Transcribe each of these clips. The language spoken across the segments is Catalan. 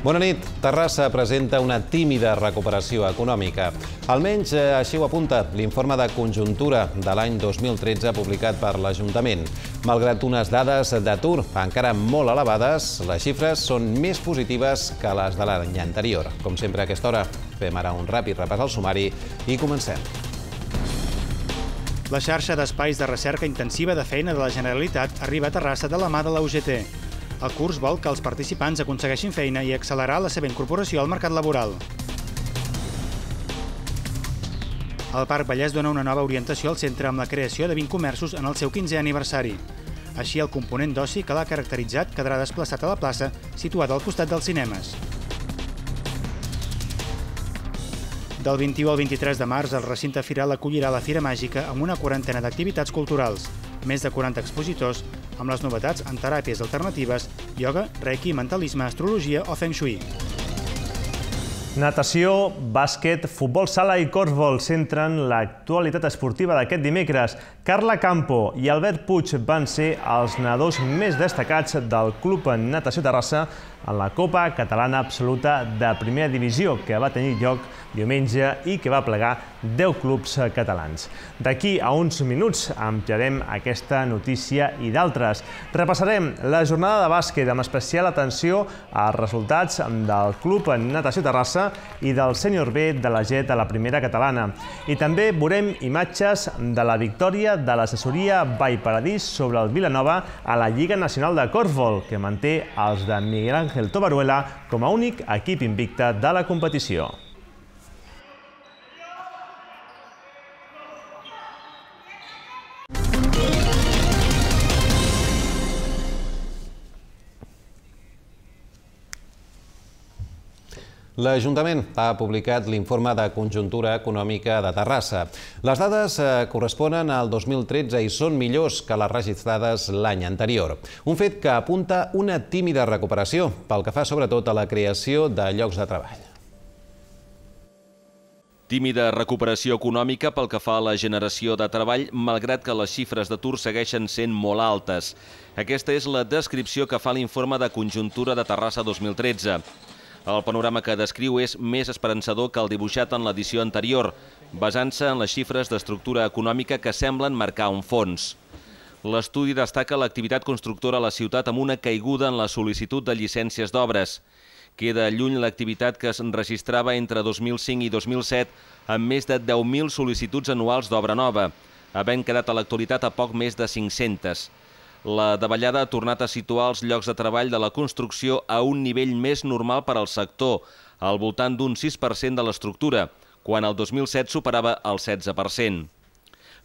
Bona nit. Terrassa presenta una tímida recuperació econòmica. Almenys així ho apunta l'informe de conjuntura de l'any 2013 publicat per l'Ajuntament. Malgrat unes dades d'atur encara molt elevades, les xifres són més positives que les de l'any anterior. Com sempre a aquesta hora, fem ara un ràpid repàs al sumari i comencem. La xarxa d'espais de recerca intensiva de feina de la Generalitat arriba a Terrassa de la mà de la UGT. El curs vol que els participants aconsegueixin feina i accelerar la seva incorporació al mercat laboral. El Parc Vallès dona una nova orientació al centre amb la creació de 20 comerços en el seu 15è aniversari. Així, el component d'oci que l'ha caracteritzat quedarà desplaçat a la plaça, situada al costat dels cinemes. Del 21 al 23 de març, el recinte firal acollirà la Fira Màgica amb una quarantena d'activitats culturals, més de 40 expositors, amb les novetats en teràpies alternatives, ioga, reiki, mentalisme, astrologia o feng shui. Natació, bàsquet, futbol sala i corfbol centren l'actualitat esportiva d'aquest dimecres. Carla Campo i Albert Puig van ser els nedadors més destacats del Club Natació Terrassa en la Copa Catalana Absoluta de Primera Divisió, que va tenir lloc diumenge i que va plegar 10 clubs catalans. D'aquí a uns minuts ampliarem aquesta notícia i d'altres. Repassarem la jornada de bàsquet amb especial atenció als resultats del Club Natació Terrassa i del Sènior B de la GET a la Primera Catalana. I també veurem imatges de la victòria de l'assessoria Vallparadís sobre el Vilanova a la Lliga Nacional de Corfbol, que manté els de Miguel Ángel Tobaruela com a únic equip invicte de la competició. L'Ajuntament ha publicat l'informe de conjuntura econòmica de Terrassa. Les dades corresponen al 2013 i són millors que les registrades l'any anterior. Un fet que apunta una tímida recuperació, pel que fa sobretot a la creació de llocs de treball. Tímida recuperació econòmica pel que fa a la generació de treball, malgrat que les xifres d'atur segueixen sent molt altes. Aquesta és la descripció que fa l'informe de conjuntura de Terrassa 2013. El panorama que descriu és més esperançador que el dibuixat en l'edició anterior, basant-se en les xifres d'estructura econòmica que semblen marcar un fons. L'estudi destaca l'activitat constructora a la ciutat amb una caiguda en la sol·licitud de llicències d'obres. Queda lluny l'activitat que es registrava entre 2005 i 2007 amb més de 10.000 sol·licituds anuals d'obra nova, havent quedat a l'actualitat a poc més de 500. La davallada ha tornat a situar els llocs de treball de la construcció a un nivell més normal per al sector, al voltant d'un 6% de l'estructura, quan el 2007 superava el 16%.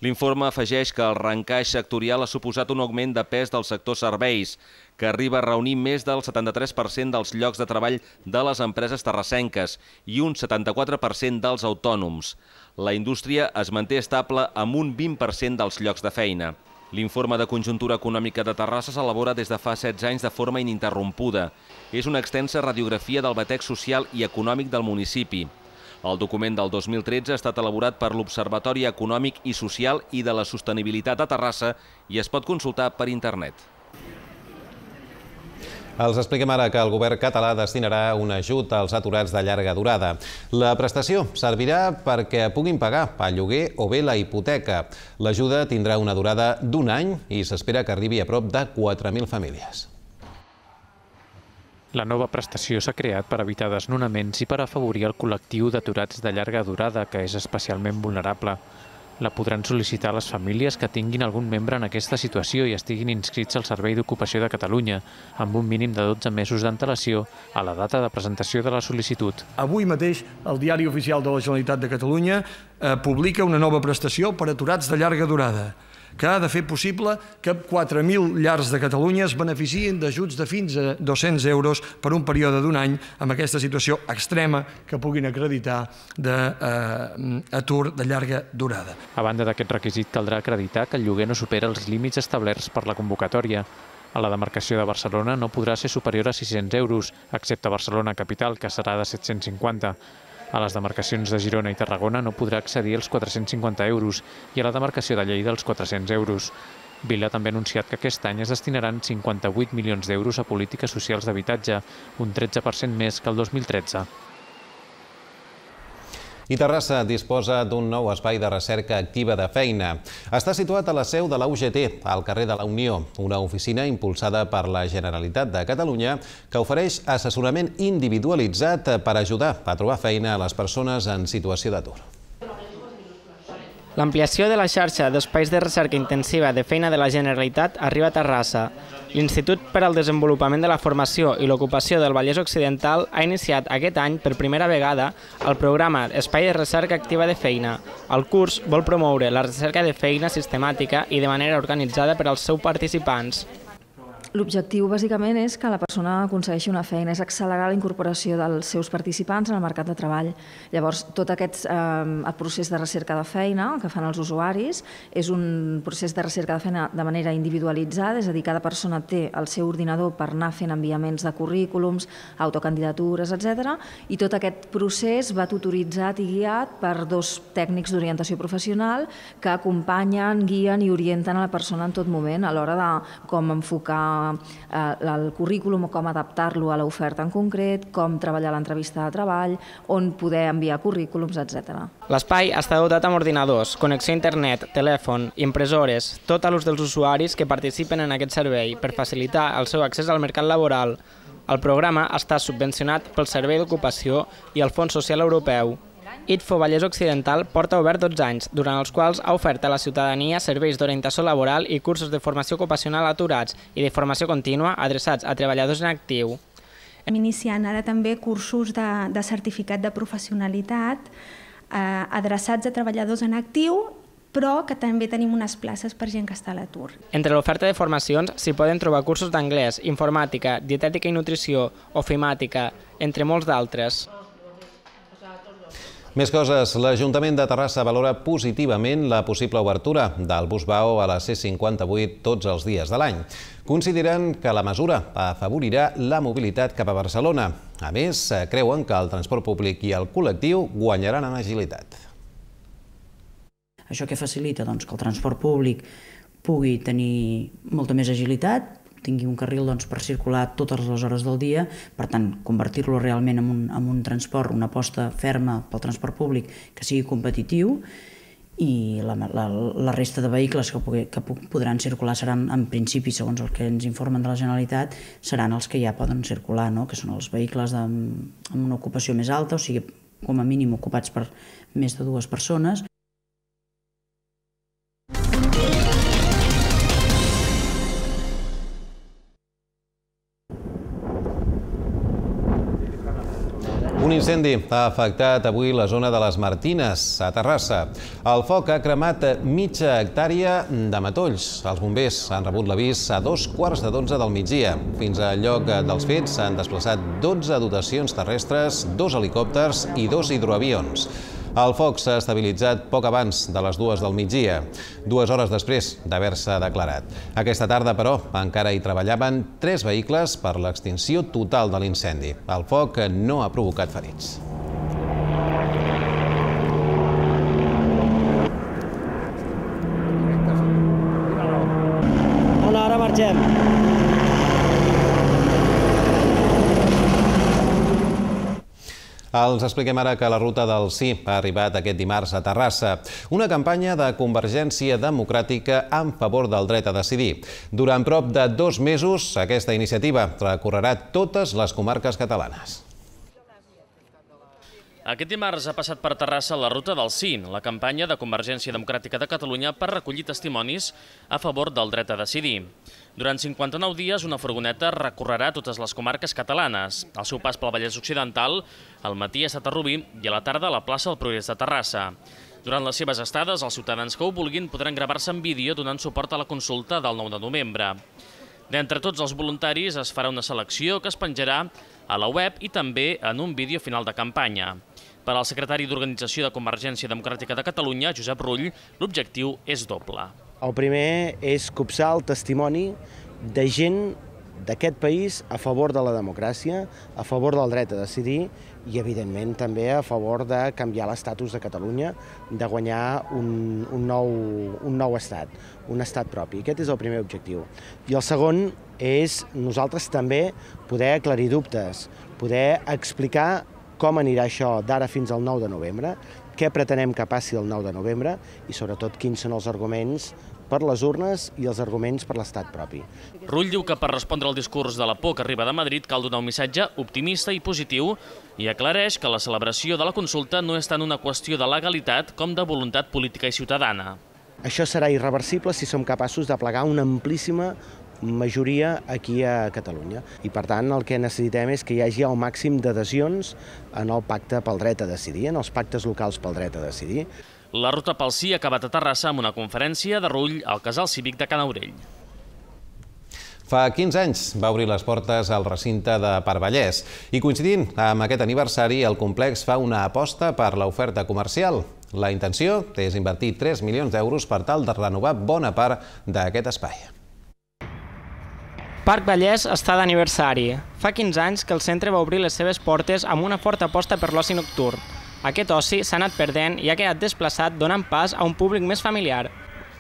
L'informe afegeix que el reencaix sectorial ha suposat un augment de pes del sector serveis, que arriba a reunir més del 73% dels llocs de treball de les empreses terrassenques i un 74% dels autònoms. La indústria es manté estable amb un 20% dels llocs de feina. L'informe de conjuntura econòmica de Terrassa s'elabora des de fa 16 anys de forma ininterrompuda. És una extensa radiografia del batec social i econòmic del municipi. El document del 2013 ha estat elaborat per l'Observatori Econòmic i Social i de la Sostenibilitat de Terrassa i es pot consultar per internet. Els expliquem ara que el govern català destinarà un ajut als aturats de llarga durada. La prestació servirà perquè puguin pagar el lloguer o bé la hipoteca. L'ajuda tindrà una durada d'un any i s'espera que arribi a prop de 4.000 famílies. La nova prestació s'ha creat per evitar desnonaments i per afavorir el col·lectiu d'aturats de llarga durada, que és especialment vulnerable. La podran sol·licitar les famílies que tinguin algun membre en aquesta situació i estiguin inscrits al Servei d'Ocupació de Catalunya, amb un mínim de 12 mesos d'antelació a la data de presentació de la sol·licitud. Avui mateix el Diari Oficial de la Generalitat de Catalunya publica una nova prestació per aturats de llarga durada, que ha de fer possible que 4.000 llars de Catalunya es beneficien d'ajuts de fins a 200 euros per un període d'un any amb aquesta situació extrema que puguin acreditar d'atur de llarga durada. A banda d'aquest requisit, caldrà acreditar que el lloguer no supera els límits establerts per la convocatòria. A la demarcació de Barcelona no podrà ser superior a 600 euros, excepte Barcelona Capital, que serà de 750. A les demarcacions de Girona i Tarragona no podrà accedir als 450 euros i a la demarcació de Lleida als 400 euros. Vila també ha anunciat que aquest any es destinaran 58 milions d'euros a polítiques socials d'habitatge, un 13% més que el 2013. I Terrassa disposa d'un nou espai de recerca activa de feina. Està situat a la seu de la UGT, al carrer de la Unió, una oficina impulsada per la Generalitat de Catalunya que ofereix assessorament individualitzat per ajudar a trobar feina a les persones en situació d'atur. L'ampliació de la xarxa d'espais de recerca intensiva de feina de la Generalitat arriba a Terrassa. L'Institut per al Desenvolupament de la Formació i l'Ocupació del Vallès Occidental ha iniciat aquest any per primera vegada el programa Espai de Recerca Activa de Feina. El curs vol promoure la recerca de feina sistemàtica i de manera organitzada per als seus participants. L'objectiu, bàsicament, és que la persona aconsegueixi una feina, és accelerar la incorporació dels seus participants en el mercat de treball. Llavors, tot aquest procés de recerca de feina que fan els usuaris és un procés de recerca de feina de manera individualitzada, és a dir, cada persona té el seu ordinador per anar fent enviaments de currículums, autocandidatures, etc. I tot aquest procés va tutoritzat i guiat per dos tècnics d'orientació professional que acompanyen, guien i orienten a la persona en tot moment a l'hora de com enfocar el currículum o com adaptar-lo a l'oferta en concret, com treballar l'entrevista de treball, on poder enviar currículums, etc. L'espai està dotat amb ordinadors, connexió a internet, telèfon, impressores, tot a l'ús dels usuaris que participen en aquest servei per facilitar el seu accés al mercat laboral. El programa està subvencionat pel Servei d'Ocupació i el Fons Social Europeu. ITFO Vallès Occidental porta obert 12 anys, durant els quals ha ofert a la ciutadania serveis d'orientació laboral i cursos de formació ocupacional aturats i de formació contínua adreçats a treballadors en actiu. Hem iniciat ara també cursos de certificat de professionalitat adreçats a treballadors en actiu, però que també tenim unes places per gent que està a l'atur. Entre l'oferta de formacions s'hi poden trobar cursos d'anglès, informàtica, dietètica i nutrició, ofimàtica, entre molts d'altres. Més coses. L'Ajuntament de Terrassa valora positivament la possible obertura del bus Vao a la C58 tots els dies de l'any. Consideren que la mesura afavorirà la mobilitat cap a Barcelona. A més, creuen que el transport públic i el col·lectiu guanyaran en agilitat. Això què facilita? Doncs que el transport públic pugui tenir molta més agilitat, tingui un carril per circular totes les hores del dia, per tant, convertir-lo realment en un transport, una aposta ferma pel transport públic que sigui competitiu, i la resta de vehicles que podran circular seran, en principi, segons el que ens informen de la Generalitat, seran els que ja poden circular, que són els vehicles amb una ocupació més alta, o sigui, com a mínim ocupats per més de 2 persones. Un incendi ha afectat avui la zona de les Martines, a Terrassa. El foc ha cremat mitja hectàrea de matolls. Els bombers han rebut l'avís a 11:15 del migdia. Fins al lloc dels fets s'han desplaçat 12 dotacions terrestres, 2 helicòpters i 2 hidroavions. El foc s'ha estabilitzat poc abans de les 2 del migdia, 2 hores després d'haver-se declarat. Aquesta tarda, però, encara hi treballaven 3 vehicles per l'extinció total de l'incendi. El foc no ha provocat ferits. Ara marxem. Els expliquem ara que la ruta del sí ha arribat aquest dimarts a Terrassa. Una campanya de Convergència Democràtica en favor del dret a decidir. Durant prop de 2 mesos, aquesta iniciativa recorrerà totes les comarques catalanes. Aquest dimarts ha passat per Terrassa la ruta del sí, la campanya de Convergència Democràtica de Catalunya per recollir testimonis a favor del dret a decidir. Durant 59 dies, una furgoneta recorrerà totes les comarques catalanes. El seu pas pel Vallès Occidental, al matí ha estat a Rubí i a la tarda a la plaça del Progrés de Terrassa. Durant les seves estades, els ciutadans que ho vulguin podran gravar-se en vídeo donant suport a la consulta del 9 de novembre. D'entre tots els voluntaris es farà una selecció que es penjarà a la web i també en un vídeo final de campanya. Per al secretari d'Organització de Convergència Democràtica de Catalunya, Josep Rull, l'objectiu és doble. El primer és copsar el testimoni de gent d'aquest país, a favor de la democràcia, a favor del dret a decidir i, evidentment, també a favor de canviar l'estatus de Catalunya, de guanyar un nou estat, un estat propi. Aquest és el primer objectiu. I el segon és nosaltres també poder aclarir dubtes, poder explicar com anirà això d'ara fins al 9 de novembre, què pretenem que passi el 9 de novembre i, sobretot, quins són els arguments per les urnes i els arguments per l'estat propi. Rull diu que per respondre al discurs de la por que arriba de Madrid cal donar un missatge optimista i positiu i aclareix que la celebració de la consulta no és tant una qüestió de legalitat com de voluntat política i ciutadana. Això serà irreversible si som capaços de plegar una amplíssima majoria aquí a Catalunya. I, per tant, el que necessitem és que hi hagi el màxim d'adhesions en el pacte pel dret a decidir, en els pactes locals pel dret a decidir. La ruta pel sí ha acabat a Terrassa amb una conferència de Rull al Casal Cívic de Can Aurell. Fa 15 anys va obrir les portes al recinte de Parc Vallès i, coincidint amb aquest aniversari, el complex fa una aposta per l'oferta comercial. La intenció és invertir 3 milions d'euros per tal de renovar bona part d'aquest espai. Parc Vallès està d'aniversari. Fa 15 anys que el centre va obrir les seves portes amb una forta aposta per l'oci nocturn. Aquest oci s'ha anat perdent i ha quedat desplaçat donant pas a un públic més familiar.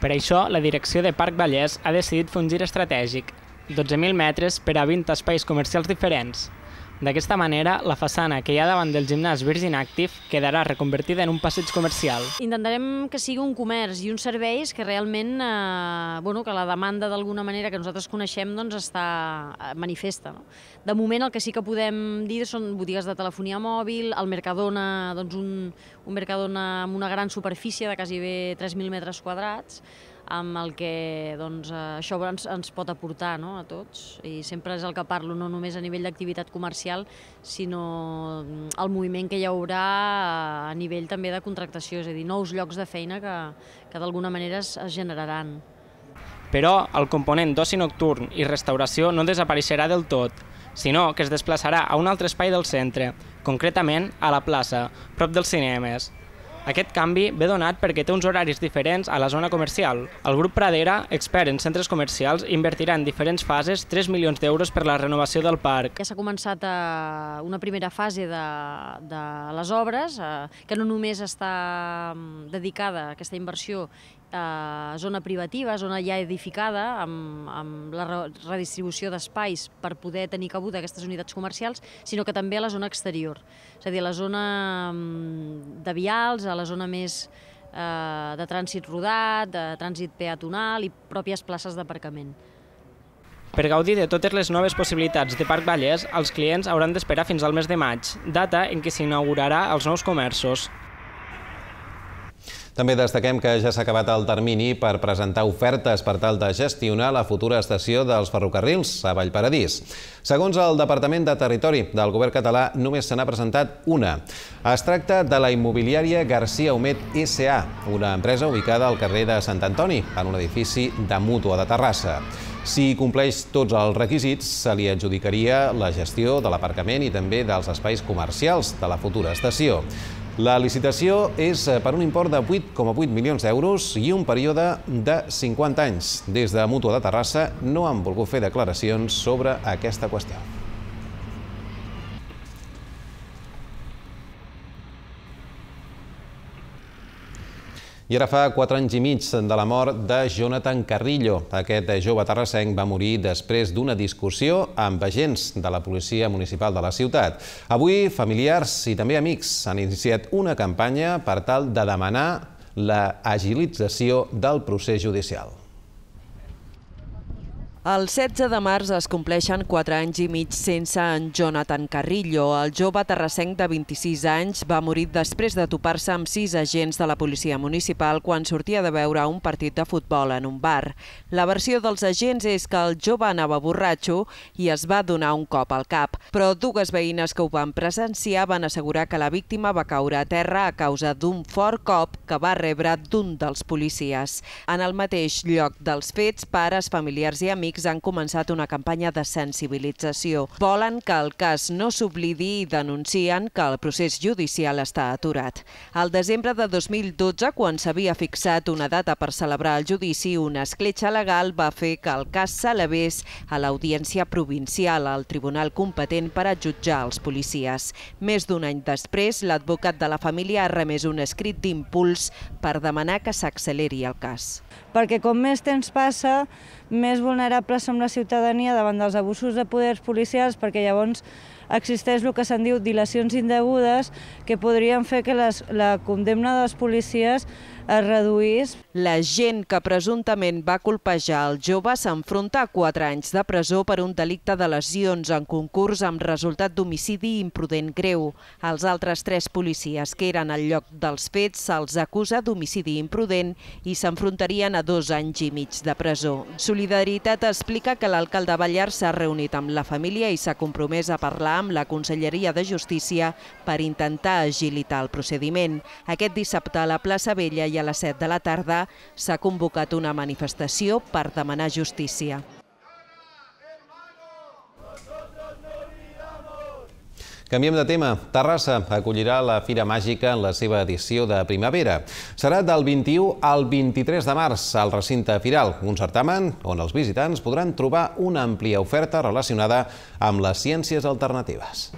Per això, la direcció de Parc Vallès ha decidit fer un gir estratègic. 12.000 metres per a 20 espais comercials diferents. D'aquesta manera, la façana que hi ha davant del gimnàs Virgin Active quedarà reconvertida en un passeig comercial. Intentarem que sigui un comerç i uns serveis que realment, que la demanda d'alguna manera que nosaltres coneixem està manifesta. De moment el que sí que podem dir són botigues de telefonia mòbil, el Mercadona, un Mercadona amb una gran superfície de gairebé 3.000 metres quadrats, amb el que això ens pot aportar a tots. I sempre és el que parlo, no només a nivell d'activitat comercial, sinó el moviment que hi haurà a nivell també de contractació, és a dir, nous llocs de feina que d'alguna manera es generaran. Però el component d'oci nocturn i restauració no desapareixerà del tot, sinó que es desplaçarà a un altre espai del centre, concretament a la plaça, prop dels cinemes. Aquest canvi ve donat perquè té uns horaris diferents a la zona comercial. El grup Pradera, expert en centres comercials, invertirà en diferents fases 3 milions d'euros per la renovació del parc. Ja s'ha començat una primera fase de les obres, que no només està dedicada a aquesta inversió a zona privativa, zona ja edificada, amb la redistribució d'espais per poder tenir cabuda aquestes unitats comercials, sinó que també a la zona exterior, és a dir, a la zona de vials, a la zona més de trànsit rodat, de trànsit peatonal i pròpies places d'aparcament. Per gaudir de totes les noves possibilitats de Parc Vallès, els clients hauran d'esperar fins al mes de maig, data en què s'inaugurarà els nous comerços. També destaquem que ja s'ha acabat el termini per presentar ofertes per tal de gestionar la futura estació dels ferrocarrils a Vallparadís. Segons el Departament de Territori del Govern català, només se n'ha presentat una. Es tracta de la immobiliària García Humet S.A., una empresa ubicada al carrer de Sant Antoni, en un edifici de Mútua de Terrassa. Si compleix tots els requisits, se li adjudicaria la gestió de l'aparcament i també dels espais comercials de la futura estació. La licitació és per un import de 8,8 milions d'euros i un període de 50 anys. Des de Mútua de Terrassa no han volgut fer declaracions sobre aquesta qüestió. I ara fa 4 anys i mig de la mort de Jonathan Carrillo. Aquest jove terrassenc va morir després d'una discussió amb agents de la policia municipal de la ciutat. Avui, familiars i també amics han iniciat una campanya per tal de demanar l'agilització del procés judicial. El 16 de març es compleixen 4 anys i mig sense en Jonathan Carrillo. El jove terrassenc de 26 anys va morir després de topar-se amb 6 agents de la policia municipal quan sortia de veure un partit de futbol en un bar. La versió dels agents és que el jove anava borratxo i es va donar un cop al cap, però 2 veïnes que ho van presenciar van assegurar que la víctima va caure a terra a causa d'un fort cop que va rebre d'un dels policies. En el mateix lloc dels fets, pares, familiars i amics científics han començat una campanya de sensibilització. Volen que el cas no s'oblidi i denuncien que el procés judicial està aturat. Al desembre de 2012, quan s'havia fixat una data per celebrar el judici, una escletxa legal va fer que el cas s'elevés a l'Audiència Provincial, al tribunal competent per a jutjar els policies. Més d'un any després, l'advocat de la família ha remès un escrit d'impuls per demanar que s'acceleri el cas. Perquè com més temps passa, més vulnerables som la ciutadania davant dels abusos de poders policials, perquè llavors existeix el que se'n diu dilacions indegudes que podrien fer que la condemna dels policies es reduís. La gent que presumptament va colpejar el jove s'enfronta a 4 anys de presó per un delicte de lesions en concurs amb resultat d'homicidi imprudent greu. Els altres 3 policies que eren al lloc dels fets se'ls acusa d'homicidi imprudent i s'enfrontarien a 2 anys i mig de presó. Solidaritat explica que l'alcalde Ballar s'ha reunit amb la família i s'ha compromès a parlar amb la Conselleria de Justícia per intentar agilitar el procediment. Aquest dissabte a la plaça Vella i a les 7 de la tarda s'ha convocat una manifestació per demanar justícia. Canviem de tema. Terrassa acollirà la Fira Màgica en la seva edició de primavera. Serà del 21 al 23 de març al recinte firal, un certamen on els visitants podran trobar una àmplia oferta relacionada amb les ciències alternatives.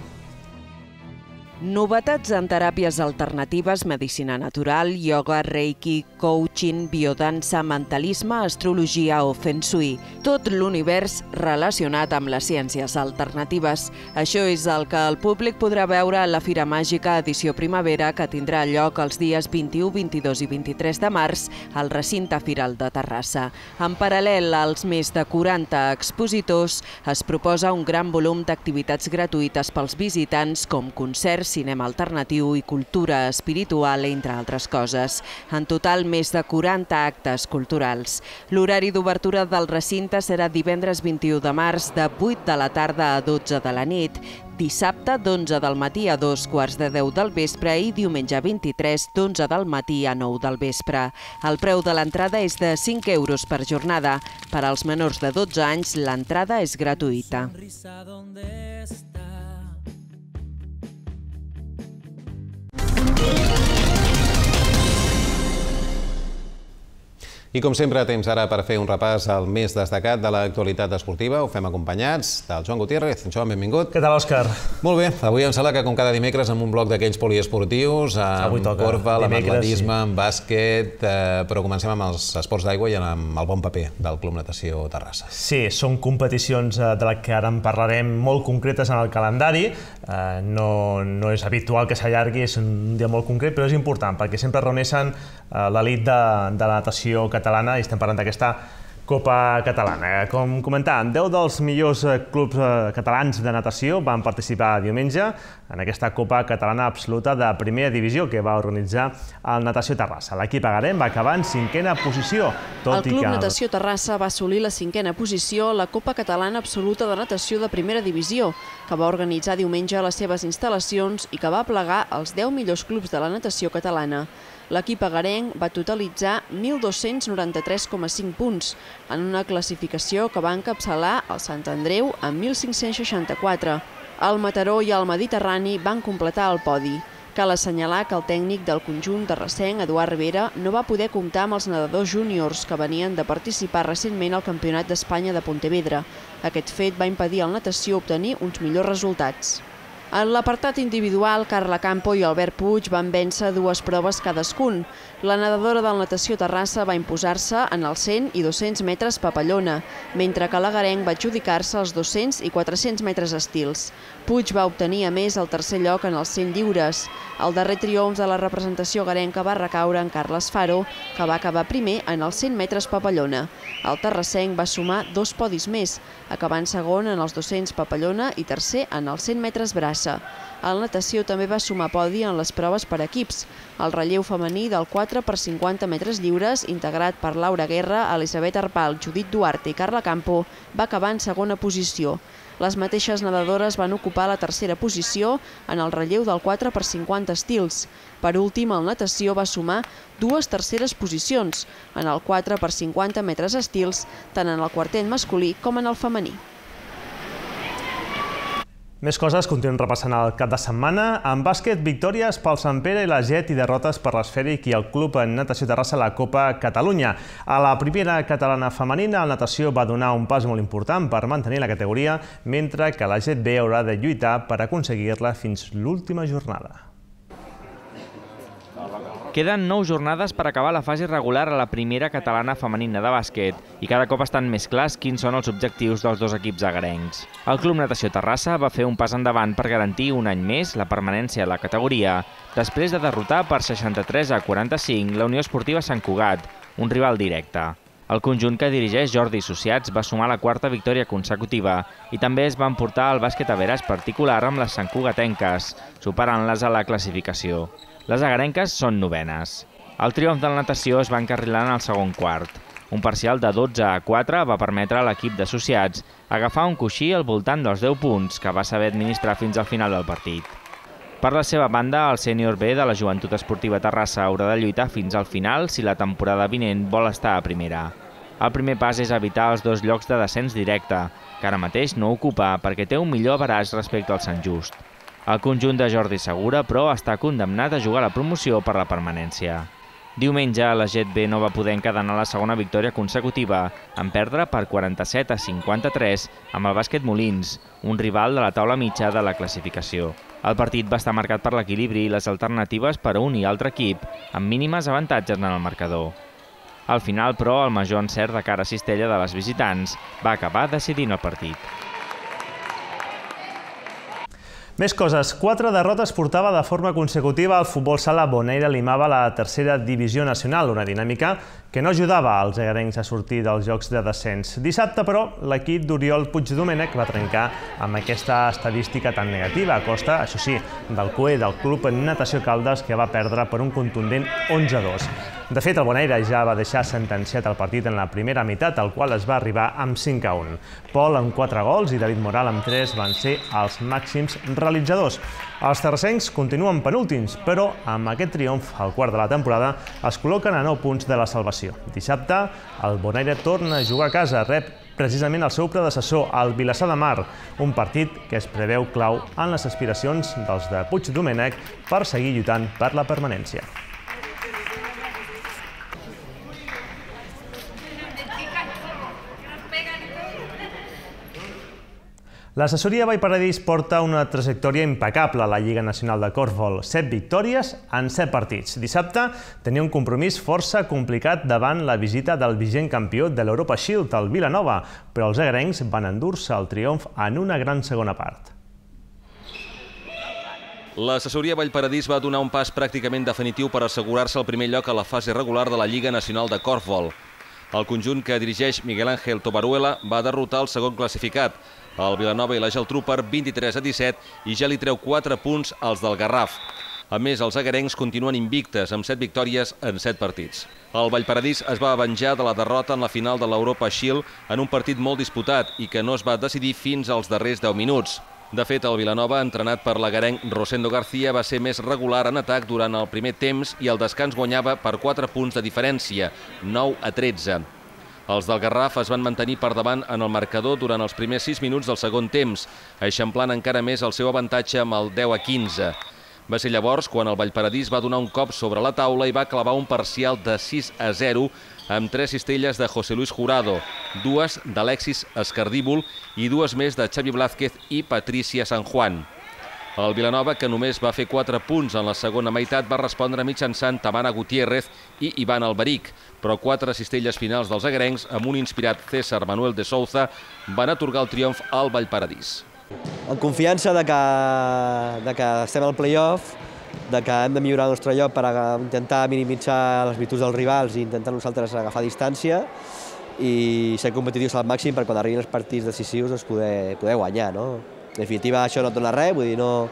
Novetats en teràpies alternatives, medicina natural, ioga, reiki, coaching, biodansa, mentalisme, astrologia o feng shui. Tot l'univers relacionat amb les ciències alternatives. Això és el que el públic podrà veure a la Fira Màgica edició primavera que tindrà lloc els dies 21, 22 i 23 de març al recinte firal de Terrassa. En paral·lel als més de 40 expositors es proposa un gran volum d'activitats gratuïtes pels visitants com concerts, cinema alternatiu i cultura espiritual, entre altres coses. En total, més de 40 actes culturals. L'horari d'obertura del recinte serà divendres 21 de març de 8 de la tarda a 12 de la nit, dissabte d'11 del matí a 2:15 del vespre i diumenge 23 d'11 del matí a 9 del vespre. El preu de l'entrada és de 5 euros per jornada. Per als menors de 12 anys, l'entrada és gratuïta. I com sempre, temps ara per fer un repàs al més destacat de l'actualitat esportiva. Ho fem acompanyats del Joan Gutiérrez. Joan, benvingut. Què tal, Òscar? Molt bé. Avui em sembla que, com cada dimecres, amb un bloc d'aquells poliesportius, amb corfball, amb atletisme, amb bàsquet, però comencem amb els esports d'aigua i amb el bon paper del Club Natació Terrassa. Sí, són competicions de les que ara en parlarem molt concretes en el calendari. No és habitual que s'allargui, és un dia molt concret, però és important perquè sempre reuneixen l'elit de la natació catalana i estem parlant d'aquesta Copa Catalana. Com comentàvem, 10 dels millors clubs catalans de natació van participar diumenge en aquesta Copa Catalana Absoluta de Primera Divisió que va organitzar el Natació Terrassa. L'equip agarem va acabar en 5a posició. El Club Natació Terrassa va assolir la 5a posició a la Copa Catalana Absoluta de Natació de Primera Divisió, que va organitzar diumenge a les seves instal·lacions i que va plegar els 10 millors clubs de la natació catalana. L'equip agarenc va totalitzar 1.293,5 punts en una classificació que va encapçalar el Sant Andreu amb 1.564. El Mataró i el Mediterrani van completar el podi. Cal assenyalar que el tècnic del conjunt terrassenc, Eduard Rivera, no va poder comptar amb els nedadors júniors que venien de participar recentment al Campionat d'Espanya de Pontevedra. Aquest fet va impedir al natació obtenir uns millors resultats. En l'apartat individual, Carla Campo i Albert Puig van vèncer 2 proves cadascun. La nedadora del Natació Terrassa va imposar-se en els 100 i 200 metres papallona, mentre que l'agarenc va adjudicar-se els 200 i 400 metres estils. Puig va obtenir a més el tercer lloc en els 100 lliures. El darrer triomf de la representació agarenca va recaure en Carles Faro, que va acabar primer en els 100 metres papallona. El terrassenc va sumar 2 podis més, acabant segon en els 200 papallona i tercer en els 100 metres braç. Terrassa. El natació també va sumar podi en les proves per equips. El relleu femení del 4 per 50 metres lliures, integrat per Laura Guerra, Elisabet Arpal, Judit Duarte i Carla Campo, va acabar en segona posició. Les mateixes nedadores van ocupar la tercera posició en el relleu del 4 per 50 estils. Per últim, el natació va sumar 2 terceres posicions, en el 4 per 50 metres estils, tant en el quartet masculí com en el femení. Més coses, continuem repassant el cap de setmana. En bàsquet, victòries pel Sant Pere i la Jet i derrotes per l'Esfèric i el Club Natació Terrassa a la Copa Catalunya. A la primera catalana femenina, el Natació va donar un pas molt important per mantenir la categoria, mentre que la Jet B haurà de lluitar per aconseguir-la fins l'última jornada. Queden 9 jornades per acabar la fase regular a la primera catalana femenina de bàsquet i cada cop estan més clars quins són els objectius dels dos equips agarencs. El Club Natació Terrassa va fer un pas endavant per garantir un any més la permanència a la categoria, després de derrotar per 63-45 la Unió Esportiva Sant Cugat, un rival directe. El conjunt que dirigeix Jordi Associats va sumar la quarta victòria consecutiva i també es va emportar el bàsquet a veres particular amb les santcugatenques, superant-les a la classificació. Les agarenques són novenes. El triomf de la natació es va encarrilar en el segon quart. Un parcial de 12-4 va permetre a l'equip d'associats agafar un coixí al voltant dels 10 punts que va saber administrar fins al final del partit. Per la seva banda, el sènior B de la Joventut Esportiva Terrassa haurà de lluitar fins al final si la temporada vinent vol estar a primera. El primer pas és evitar els 2 llocs de descens directe, que ara mateix no ocupa perquè té un millor average respecte al Sant Just. El conjunt de Jordi Segura, però, està condemnat a jugar la promoció per la permanència. Diumenge, la Jet B no va poder encadenar la segona victòria consecutiva, en perdre per 47-53 amb el Bàsquet Molins, un rival de la taula mitja de la classificació. El partit va estar marcat per l'equilibri i les alternatives per a un i altre equip, amb mínimes avantatges en el marcador. Al final, però, el major encert de cara a Cistella de les visitants va acabar decidint el partit. Més coses. 4 derrotes portava de forma consecutiva el futbol sala Bonaire limava a la tercera divisió nacional, una dinàmica que no ajudava als agarencs a sortir dels jocs de descens. Dissabte, però, l'equip d'Oriol Puigdomènech va trencar amb aquesta estadística tan negativa, a costa, això sí, del cué del Club Natació Caldes, que va perdre per un contundent 11-2. De fet, el Bonaire ja va deixar sentenciat el partit en la primera meitat, al qual es va arribar amb 5-1. Pol amb 4 gols i David Moral amb 3 van ser els màxims realitzadors. Els terrassencs continuen penúltims, però amb aquest triomf, al quart de la temporada, es col·loquen a 9 punts de la salvació. Dissabte, el Bonaire torna a jugar a casa, rep precisament el seu predecessor, el Vilassar de Mar, un partit que es preveu clau en les aspiracions dels de Puigdomènech per seguir lluitant per la permanència. L'assessoria Vallparadís porta una trajectòria impecable a la Lliga Nacional de Corfbol. 7 victòries en 7 partits. Dissabte tenia un compromís força complicat davant la visita del vigent campió de l'Europa Shield, el Vilanova, però els agarencs van endur-se el triomf en una gran segona part. L'assessoria Vallparadís va donar un pas pràcticament definitiu per assegurar-se el primer lloc a la fase regular de la Lliga Nacional de Corfbol. El conjunt que dirigeix Miguel Ángel Tobaruela va derrotar el segon classificat, el Vilanova i la Geltrú, per 23-17 i ja li treu 4 punts als del Garraf. A més, els agarencs continuen invictes amb 7 victòries en 7 partits. El Vallparadís es va avenjar de la derrota en la final de l'Europa Shield en un partit molt disputat i que no es va decidir fins als darrers 10 minuts. De fet, el Vilanova, entrenat per l'agarenc Rosendo García, va ser més regular en atac durant el primer temps i el descans guanyava per 4 punts de diferència, 9-13. Els del Garraf es van mantenir per davant en el marcador durant els primers 6 minuts del segon temps, eixamplant encara més el seu avantatge amb el 10-15. Va ser llavors quan el Vallparadís va donar un cop sobre la taula i va clavar un parcial de 6-0 amb 3 cistelles de José Luis Jurado, 2 d'Alexis Escardíbol i 2 més de Xavi Blázquez i Patricia San Juan. El Vilanova, que només va fer 4 punts en la segona meitat, va respondre mitjançant Tamara Gutiérrez i Ivan Alberic, però 4 cistelles finals dels agarencs, amb un inspirat César Manuel de Souza, van atorgar el triomf al Vallparadís. En confiança de que estem al play-off, de que hem de millorar el nostre lloc per intentar minimitzar les virtuts dels rivals i intentar nosaltres agafar distància i ser competitius al màxim per quan arribin els partits decisius poder guanyar. En definitiva, això no et dona res, vull dir, no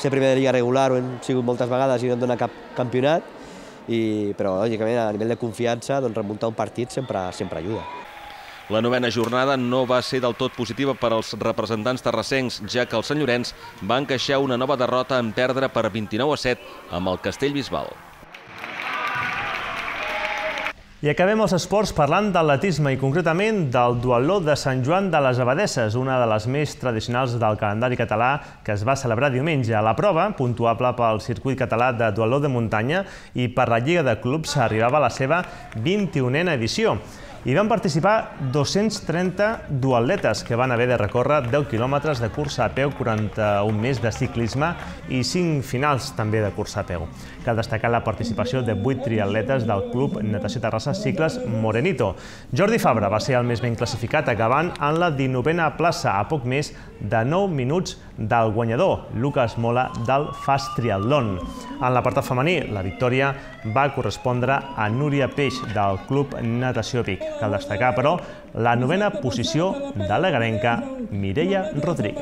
ser primer de lliga regular ho hem sigut moltes vegades i no et dona cap campionat, però, lògicament, a nivell de confiança, remuntar un partit sempre ajuda. La novena jornada no va ser del tot positiva per als representants terrassencs, ja que el Sant Llorenç va encaixar una nova derrota en perdre per 29-7 amb el Castellbisbal. I acabem els esports parlant d'atletisme i concretament del duatló de Sant Joan de les Abadesses, una de les més tradicionals del calendari català que es va celebrar diumenge. La prova, puntuable pel circuit català de duatló de muntanya i per la Lliga de Clubs, arribava a la seva 21a edició. Hi van participar 230 duatletes que van haver de recórrer 10 quilòmetres de cursa a peu, 41 més de ciclisme i 5 finals també de cursa a peu. Cal destacar la participació de 8 triatletes del Club Natació Terrassa Cicles Morenito. Jordi Fabra va ser el més ben classificat, acabant en la 19a plaça, a poc més de 9 minuts del guanyador, Lucas Mola, del Fast Triatlon. En l'apartat femení, la victòria va correspondre a Núria Peix, del Club Natació Vic. Cal destacar, però, la novena posició de l'agarenca Mireia Rodríguez.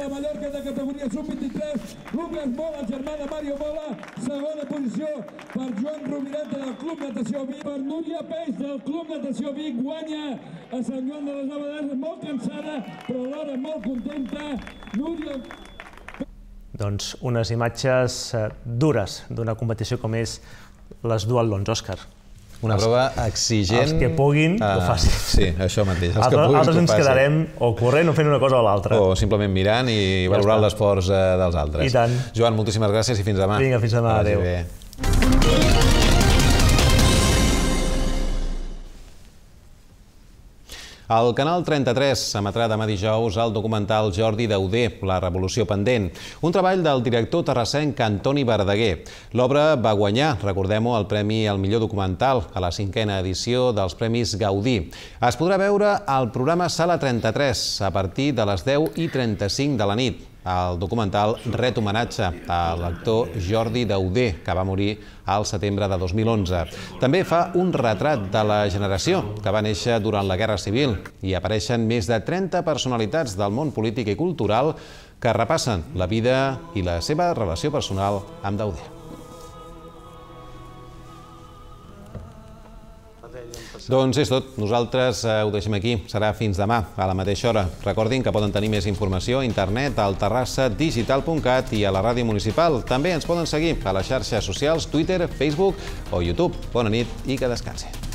Lucas Mola, germà de Mario Mola, segona posició per Joan Rovireta del Club Natació Vic. Per Núria Peix del Club Natació Vic, guanya a Sant Joan de les Abadesses, molt cansada, però alhora molt contenta. Núria... Doncs unes imatges dures d'una competició com és les duatlons, Òscar. Una prova exigent. Els que puguin, ho facin. Sí, això mateix. Altres ens quedarem o corrent o fent una cosa o l'altra. O simplement mirant i valorant l'esforç dels altres. I tant. Joan, moltíssimes gràcies i fins demà. Vinga, fins demà. Adéu. El Canal 33 emetrà demà dijous el documental Jordi Dauder, La revolució pendent, un treball del director terrassenc Antoni Verdaguer. L'obra va guanyar, recordem-ho, el Premi al millor documental a la 5a edició dels Premis Gaudí. Es podrà veure al programa Sala 33 a partir de les 10:35 de la nit. El documental ret homenatge a l'actor Jordi Dauder, que va morir al setembre de 2011. També fa un retrat de la generació que va néixer durant la Guerra Civil i apareixen més de 30 personalitats del món polític i cultural que repassen la vida i la seva relació personal amb Dauder. Doncs és tot. Nosaltres ho deixem aquí. Serà fins demà, a la mateixa hora. Recordin que poden tenir més informació a internet al terrassadigital.cat i a la ràdio municipal. També ens poden seguir a les xarxes socials, Twitter, Facebook o YouTube. Bona nit i que descansi.